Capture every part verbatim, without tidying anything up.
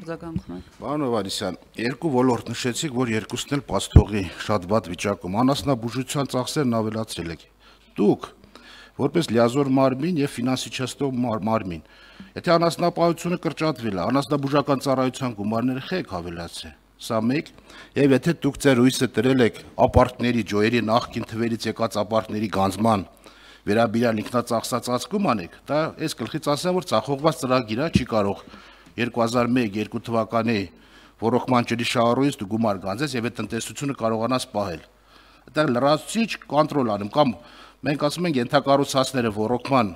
արձագանքում եք։ Պարոն Հովհաննիսյան, երկու ոլորտ նշեցիք, որ երկուսն էլ փաստողի շատ վատ վիճակում, անասնաբուժության ծախսերն ավելացրել եք։ Դուք որպես լիազոր մարմին եւ ֆինանսիչեստով մարմին, եթե անասնապահությունը կրճատվել է, անասնաբուժական ծառայության գումարները խեք ավելացրել։ Սա մեկ, եւ եթե դուք ձեր հույսը դրել եք ապարքների ջոյերի նախքին թվերից եկած ապարքների գանձման վերաբերյալ ինքնածախսացածկում անեք, դա այս գլխից ասեմ, որ ծախողված ծրագիրը չի կարող երկու հազար մեկ երկու թվականի ռոռոկման ջրի շահառուից դու գումար գանձես եւ այդ տնտեսությունը կարողանաս պահել։ Դա լրացուցիչ կոնտրոլ անում կամ մենք ասում ենք ենթակառուցվածքները ռոռոկման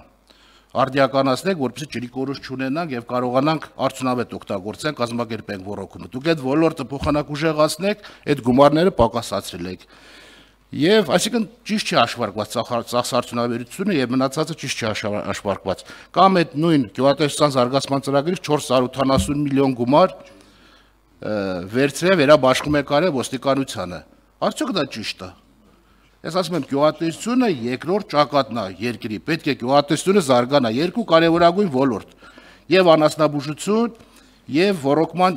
արդիականացնենք, որպեսզի ջրի կորուս չունենանք եւ կարողանանք արդյունավետ օգտագործենք, կազմակերպենք ռոռոկումը։ Դուք այդ ոլորտը փոխանակուժեղացնեք, այդ գումարները պակասացրել եք։ Եվ այսինքն ճիշտ չի հաշվարկված ծախսարդյունաբերությունը եւ մնացածը ճիշտ չի հաշվարկված։ Կամ այդ նույն գյուղատնտեսության զարգացման ծրագրից չորս հարյուր ութանասուն միլիոն գումար վերցրել վերաբաշխում եք արել ոստիկանությանը։ Արդյոք դա ճիշտ է։ Ես ասում եմ, գյուղատնտեսությունը երկրորդ ճակատն է երկրի, պետք է գյուղատնտեսությունը զարգանա, երկու կարևորագույն ոլորտ՝ եւ անասնաբուժություն, եւ ռոռոկման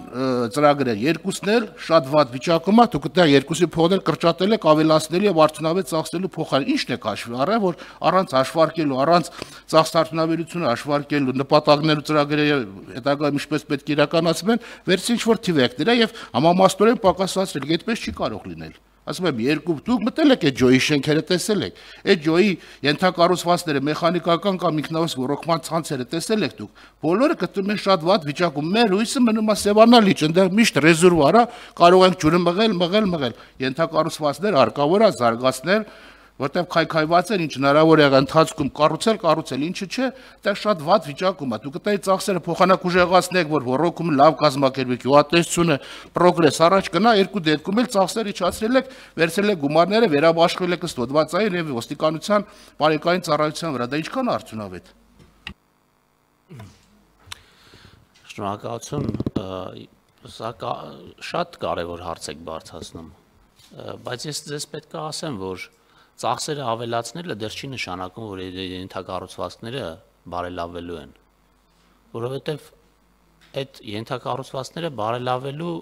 ծրագրեր, երկուսն էլ շատ վատ վիճակում է, դուք դա երկուսի փոխել կրճատել եք, ավելացնելու եւ արդյունավետ ծախսելու փոխարեն ի՞նչն եք հաշվի առել, որ առանց հաշվարկելու, առանց ծախսարդյունաբերությունը հաշվարկելու, նպատակներու ծրագրերը հետագայում ինչպես պետք է իրականացվեն, վերցրի ինչ-որ թիվ եք դրա եւ համամասնորեն պակասացրել, այդպես չի կարող լինել։ Ասում եմ, երկու դուք մտել եք այդ ջոյի շենքերը տեսել եք, այդ ջոյի ենթակառուցվածքները, մեխանիկական կամ ինքնավես ռոռոկման ցանցերը տեսել եք դուք, բոլորը գտնում են շատ վատ վիճակում, մեր հույսը մնում է Սևանալիճ, այնտեղ միշտ ռեզերվուար է, կարող ենք ջուրը մղել, մղել, մղել, ենթակառուցվածքներ հարկավոր է զարգացնել, որտեղ քայքայված են, ինչ հնարավոր է ընթացքում կառուցել, կառուցել, ինչը չէ, դա շատ վատ վիճակում է։ Դուք այդ ծախսերը փոխանակուժեղացնեք, որ ռոռոկումը լավ կազմակերպվի, գյուղատնտեսությունը պրոգրես առաջ գնա, երկու դեպքում էլ ծախսերը իջացրել եք, վերցրել եք գումարները, վերաբաշխվել եք ըստ հոդվածային եւ ոստիկանության բարեկային ծառայության վրա, դա ինչքան արդյունավետ։ Շնորհակալություն, սա շատ կարևոր հարց եք բարձրացնում, բայց ես ձեզ պետք է ասեմ, որ ծախսերը ավելացնելը դեռ չի նշանակում, որ ենթակառուցվածքները բարելավելու են, որովհետև այդ ենթակառուցվածքները բարելավելու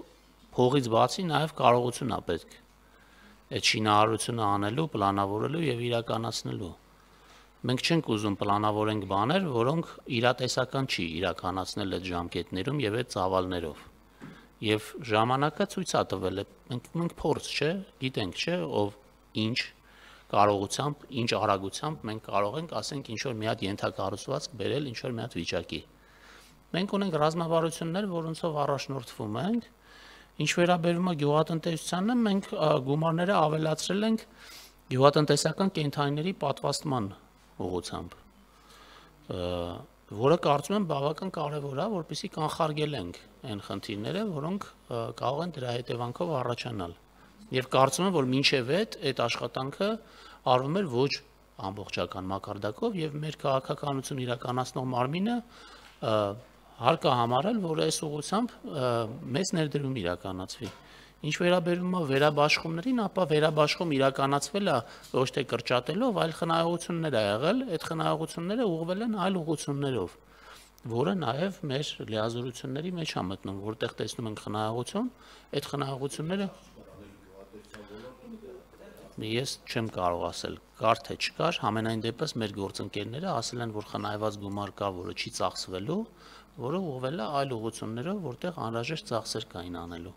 փողից բացի նաև կարողություն է պետք այդ շինարարությունը անելու, պլանավորելու եւ իրականացնելու։ Մենք չենք ուզում պլանավորենք բաներ, որոնք իրատեսական չի իրականացնել այդ ժամկետներում եւ այդ ծավալներով։ Եվ ժամանակը ցույց է տվել, մենք մենք փորձ չէ, գիտենք չէ, ով ինչ կարողությամբ, ինչ արագությամբ մենք կարող ենք, ասենք, ինչ-որ մի հատ ենթակառուցվածք բերել ինչ-որ մի հատ վիճակի։ Մենք ունենք ռազմավարություններ, որոնցով առաջնորդվում ենք, ինչ վերաբերում է գյուղատնտեսությանն, մենք գումարները ավելացրել ենք գյուղատնտեսական կենդանիների պատվաստման ուղղությամբ, որը կարծում եմ բավական կարևոր է, որպեսզի կանխարգելենք այն խնդիրները, որոնք կարող են դրա հետևանքով առաջանալ։ Եվ կարծում եմ, որ մինչև այդ այդ աշխատանքը արվում էր ոչ ամբողջական մակարդակով եւ մեր քաղաքականություն իրականացնող մարմինը հարկա համարել, որ այս ուղղությամբ մեծ ներդրում իրականացվի։ Ինչ վերաբերում է վերաբաշխումներին, ապա վերաբաշխում իրականացվել է ոչ թե կրճատելով, այլ խնայողություններ ա եղել, այդ խնայողությունները ուղղվել են այլ ուղղություններով, որը նաեւ մեր լիազորությունների մեջ է մտնում, որտեղ տեսնում ենք խնայողություն, այդ խնայողությունները Ես չեմ կարող ասել, կար թե չկար, համենայն դեպս մեր գործընկերները ասել են, որ խնայված գումար կա, որը չի ծախսվելու, որը ուղղվել է այլ ուղղություններով, որտեղ անհրաժեշտ ծախսեր կային անելու։